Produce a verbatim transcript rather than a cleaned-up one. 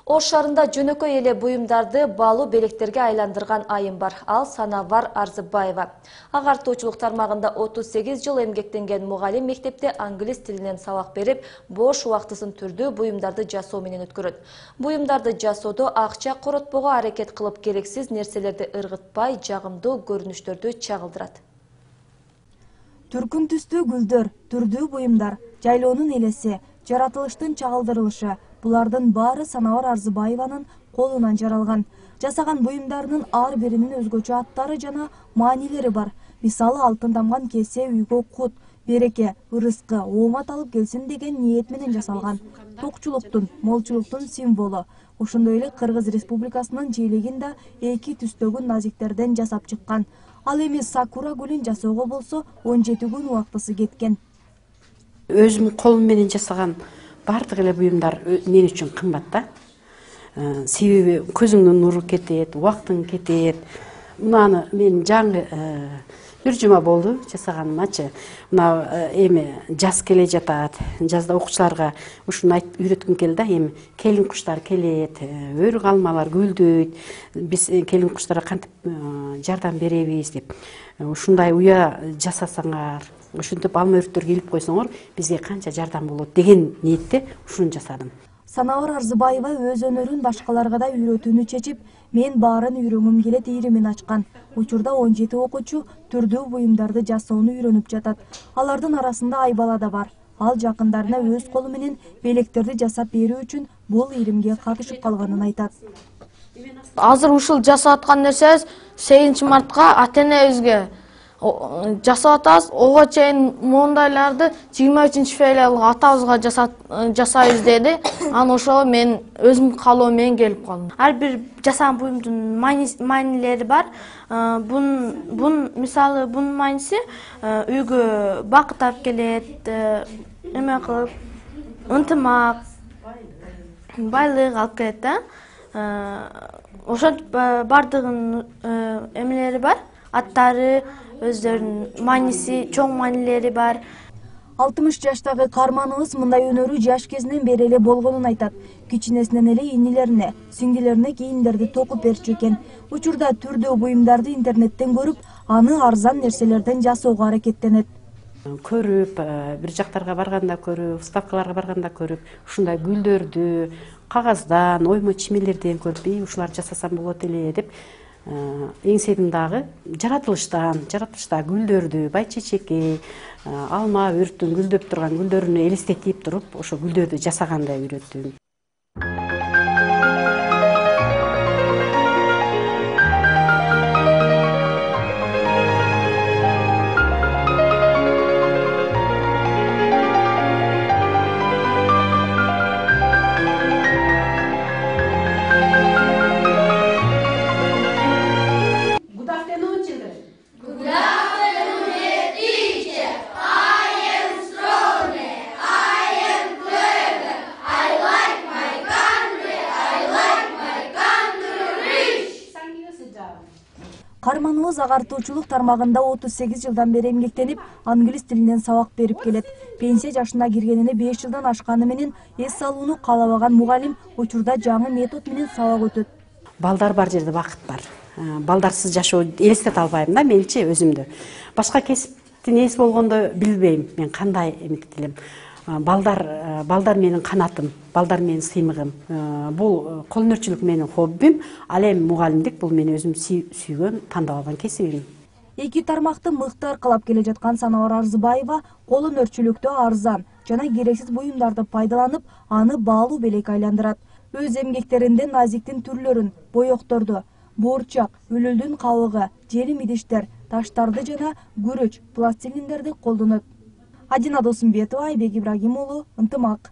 Ош шаарында жөнөкөй эле буюмдарды баалуу белектерге айландырган айым бар. Ал Санавар Арзыбаева. Агартуучулук тармагында отуз сегиз жыл эмгектенген мугалим мектепте англис тилинен сабак берип, бош убактысын түрдүү буюмдарды жасоо менен өткөрөт. Буюмдарды жасоодо акча коротпого аракет кылып, керексиз нерселерди ыргытпай, жагымдуу көрүнүштөрдү чагылдырат. Түркүн түстүү гүлдөр, түрдүү буюмдар, жайлоонун элеси, жаратылыштын чагылдырылышы — булардын баары Санавар Арзыбаеванын колунан жаралган. Жасаган буюмдарынын ар биринин өзгөчө аттары жана маанилери бар. Мисалы, алтын тамган кесе үйгө кут, береке, ырыскы, оомат алып келсин деген ниет менен жасалган. Токчулуктун, молчулуктун символу. Ошондой эле Кыргыз Республикасынын желегин да эки түстөгү назиктерден жасап чыккан. Ал эми сакура гүлүн жасоого болсо он жети күн убактысы кеткен. Өзүм колум менен жасаган бардык эле буюмдар мен үчүн кымбат да. Себеби көзүңдүн нуру кетет, убактың кетет. Мынаны мен жаңы бир жума болду жасаганымачы. Мына эми жаз келе жатат. Жазда окуучуларга ушуну айтып үйрөткүм келди да. Эми келин куштар келет, өр калмалар гүлдөйт. Биз келин куштарга кантип жардам беребиз деп. Ушундай уя жасасаңар, ушинтип алма өрттөр келип койсоңор, бизге канча жардам болот деген ниетте ушуну жасадым. Санавар Арзыбаева өз өнөрүн башкаларга да үйрөтүүнү чечип, мен баарын үйрөнгүм келет ийримин ачкан. Учурда он жети окуучу түрдүү буюмдарды жасоону үйрөнүп жатат. Алардын арасында Айбала да бар. Ал жакындарына өз колу менен белектерди жасап берүү үчүн бул ийримге катышып калганын айтат. Азыр ушул жасап аткан нерсебиз сегизинчи мартка ата-энебизге жасап атабыз. Ого чейин моундайларды жыйырма үчүнчү февралга атабызга жасайбыз деди. Аны ошого мен өзүм каалоом менен келип калдым. Ар бир жасаган буюмдун маанилери бар. Бун бун мисалы бунун мааниси үйгө бакыт алып келет, эме кылып, ынтымак, байлык алып келет да. Ошентип бардыгынын эмелери бар, аттары, өздөрүнүн мааниси, чоң маанилери бар. алтымыш жаштагы каарманыбыз мындай өнөрү жаш кезинен бери эле болгонун айтат. Кичинесинен эле инилерине, сиңдилерине кийимдерди токуп берчү экен. Учурда түрдүү буюмдарды интернеттен көрүп, аны арзан нерселерден жасоого аракеттенет. Көрүп, бир жактарга барганда көрүп, выставкаларга барганда көрүп, ушундай гүлдөрдү кагаздан, оймо чимелерден көрүп, ушуларды жасасам болот эле деп эңседим дагы. Жаратылыштан, жаратылыштагы гүлдөрдү, байчечекей, алма өрттүн гүлдөп турган гүлдөрүнү элестетип туруп, ошо гүлдөрдү жасаганды үйрөттүм. Каарманыбыз агартуучулук тармагында отуз сегиз жылдан бери эмгектенип, англис тилинен сабак берип келет. Пенсия жашына киргенине беш жылдан ашканы менен эс алууну каалабаган мугалим учурда жаңы метод менен сабак өтөт. Балдар бар жерде бакыт бар. Балдарсыз жашоо элестете албайм да менчи өзүмдү. Башка кесиптин ээси болгондо билбейм мен кандай эмгек элем. Балдар, балдар менин канатым, балдар менин сыймыгым. Бул колөнөрчүлүк менин хоббим, ал эми мугалимдик бул мен өзүм сүйгөн, тандап алган кесибим. Эки тармакты мыкты аркалап келе жаткан Санавар Арзыбаева колөнөрчүлүктө арзан жана керексиз буюмдарды пайдаланып, аны баалуу белек айландырат. Өз эмгектеринде назиктин түрлөрүн, боекторду, буурчак, үлүлдүн кабыгы, желим идиштер, таштарды жана күрөч, пластилиндерди колдонот. Адина Досумбетова, Айбек Ибрагим уулу, Ынтымак.